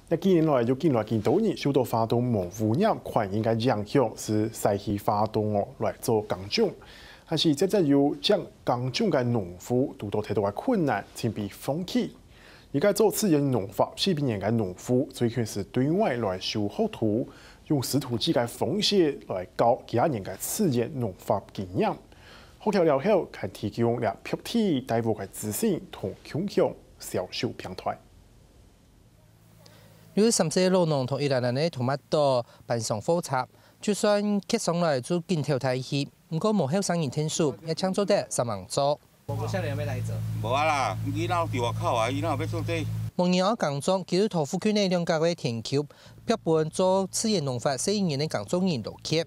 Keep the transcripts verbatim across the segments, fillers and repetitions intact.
這幾年來，有緊來緊多人受到花東無污染環境个影響，就徙去花東哦來做耕種。但是，漸漸有種耕種个農戶堵到忒大个困難，正被放棄。而該做自然農法四十年个農戶，最近就對外來收學徒，用師徒制个方式來教幾下年个自然農法經驗。學徒了後，還提供了白地帶屋个資訊同共享銷售平台。 有三十歲个老農同一欄欄个tomato搬上貨車，就算結上來就緊敨大氣，毋過無後生人𢯭手，也正做得煞猛做。我下來有沒有來走？無啊啦，囡仔在外口啊，囡仔有欲做這。無人愛耕種，佢就同附近个兩甲个田坵，拍分做自然農法四十年个耕種人羅傑。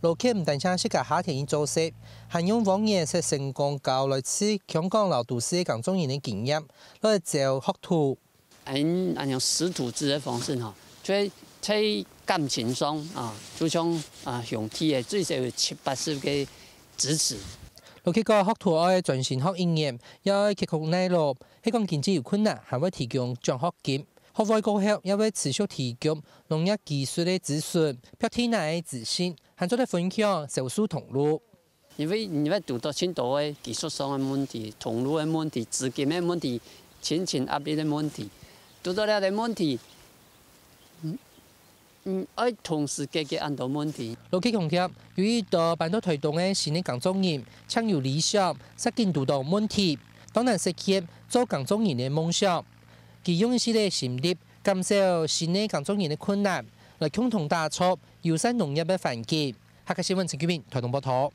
羅傑毋單淨自家下田去做事，還用往年識成功教來自香港摎都市个耕種人个經驗，來招學徒。 恁恁樣師徒制个方式吼，就係在感情上啊，就像啊兄弟个最少有七八十个支持。羅傑講，學徒愛專心學一年，也愛刻苦耐勞，係講經濟有困難，還會提供獎學金。學會過後，也會持續提供農業技術个諮詢、白地泥个資訊，還做得分享銷售通路。 因為你會堵到盡多个技術上个問題、通路个問題、資金个問題、親情壓力个問題，堵到這个問題，嗯，嗯，愛同時解決恁多問題。羅傑強調，有一多搬到臺東个新个耕種人，正有理想，煞緊堵到問題，當難實現做耕種人个夢想。佢用一息个心力，減少新个耕種人个困難，來共同打造友善農業个環境。客家新聞陳菊明，臺東報導。